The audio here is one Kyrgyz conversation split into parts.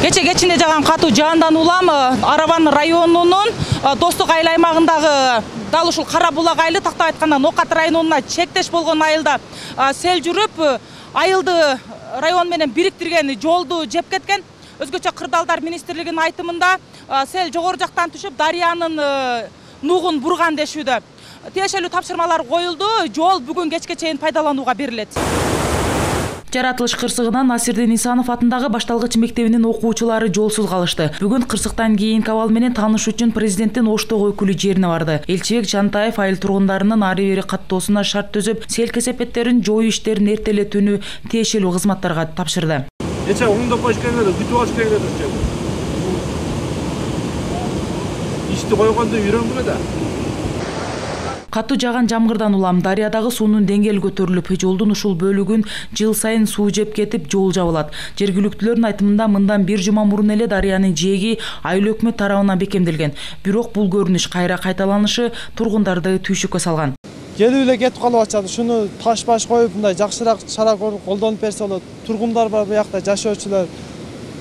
Кече кечинде жаган катуу жаандан улам Араван районунун Достук айыл аймагындагы дал ушул Кара Булак айылы, тактап айтканда Нокат районуна чектеш болгон айылда сел жүрүп, айылды район менен бириктирген жолду жеп кеткен. Өзгөчө Кырдаалдар министрлигинин айтымында сел жогору жактан түшүп, дарыянын нугун бурган дешүүдө. Тиешелүү тапшырмалар коюлду, жол бүгүн кечке чейин пайдаланууга берилет. Жаратылыш кырсыгынан Насирдин Исанов атындагы башталгыч мектебинин окуучулары жолсуз калышты. Бүгүн кырсыктан кийинки абал менен тааныш үчүн президенттин Оштогу өкүлү жерине барды. Элчибек Жантаев айыл тургундарынын ары бери каттоосуна шарт түзүп, сел кесепеттерин жоюу иштерин эртелетүүнү тиешелүү кызматтарга тапшырды. Эче оңдоп коюш керек эле, күтүп алыш керек эле. Ишти койгондо үйрөнгүлө да. Катуу жааган жамгырдан улам дарыядагы суунун деңгээли көтөрүлүп, жолдун ушул бөлүгүн жыл сайын суу жеп кетип, жол жабылат. Жергиликтүүлөрдүн айтымында мындан бир жума мурун эле дарыянын жээги айыл өкмөт тарабынан бекемделген. Бирок бул көрүнүш кайра кайталанышы тургундарды түйшүккө салган. Келип эле кетип калып атышат. Шуну таш-баш коюп, мындай жакшыраак чара колдонуп берсе болот. Тургундар бар, бу жакта жашоочулар.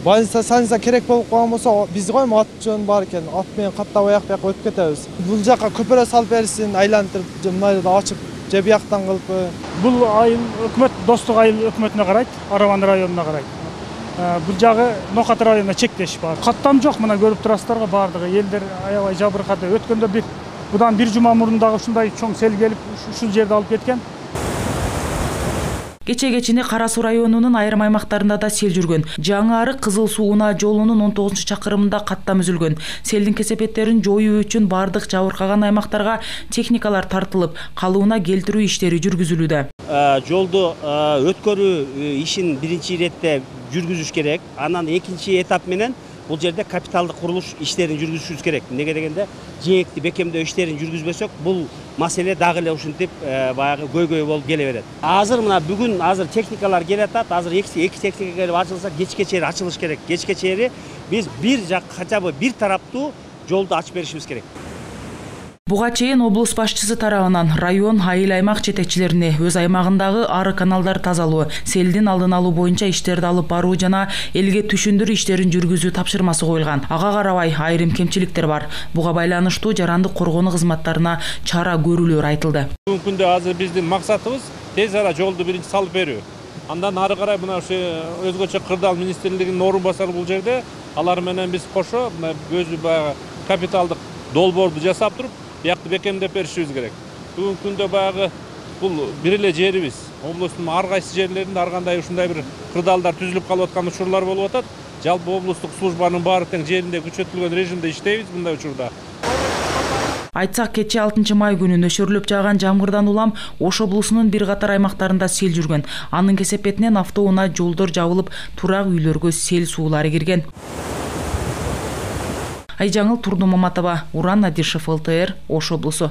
Больница керек болуп калган болсо, биз коймо ат жөн бар экен. Ат менен каттап аяк-бияка өтүп кетебиз. Бул жака көпүрө салып берсин, айлантырып, мындайда ачып, же бияктан кылып. Бул айыл өкмөт, Достук айыл өкмөтүнө карайт, Араван районуна карайт. Бул жагы Нокат районуна чектеш бар. Каттам жок, мына көрүп турасыздарга, бардыгы элдер аябай жабыркады. Өткөндө будан бир жума мурун дагы ушундай чоң сел келип, ушул жерди алып кеткен. Кече кечинде Кара Суу районунун айрым аймактарында да сел жүргөн. Жаңы Арык Кызыл Суу-Унаа жолунун 19-чакырымында каттам үзүлгөн. Селдин кесепеттерин жоюу үчүн бардык жабыркаган аймактарга техникалар тартылып, калыбына келтирүү иштери жүргүзүлүүдө. Жолду өткөрүү ишин биринчи иретте жүргүзүш керек. Анан экинчи этап менен бул жерде капиталдык курулуш иштерин жүргүзүшүбүз керек. Неге дегенде, жээкти бекемдөө иштерин жүргүзбөсөк, бул маселе дагы эле ушинтип баягы көйгөй болуп келе берет. Азыр мына бүгүн техникалар келатат. Азыр эки техника келип ачылса, кечке чейин ачылыш керек. Кечке чейин биз бир жак, хотя бы бир тараптуу жолду ачып беришибиз керек. Буга чейин облус башчысы тарабынан район, айыл аймак жетекчилерине өз аймагындагы ары каналдар тазалоо, селдин алдын алуу боюнча иштерди алып баруу жана элге түшүндүрүү иштерин жүргүзүү тапшырмасы коюлган. Ага карабай айрым кемчиликтер бар. Буга байланыштуу жарандык коргонуу кызматтарына чара көрүүлөр айтылды. Бүгүнкү күндө азыр биздин максатыбыз тез ара жолду биринчи салып берүү. Андан ары карай мына ушу өзгөчө Кырдаал министрлигинин орун басары бул жерде, алар менен биз кошо өзү баягы капиталдык долбоорду жасап туруп, биякты бекемдеп беришибиз керек. Бүгүнкү күндө баягы бул бир эле жерибиз. Облустун ар кайсы жерлеринде ар кандай ушундай бир кырдаалдар түзүлүп калып аткан учурлар болуп атат. Жалпы облустук службанын баары тең жеринде күчөтүлгөн режимде иштейбиз мындай учурда. Айтсак, кече 6-май күнү нөшөрлөп жааган жамгырдан улам Ош облусунун бир катар аймактарында сел жүргөн. Анын кесепетинен автоунаа жолдор жабылып, турак үйлөргө сел суулары кирген. Айжаңыл Турду Маматова, Уран Надишев, ЛТР, Ош облусу.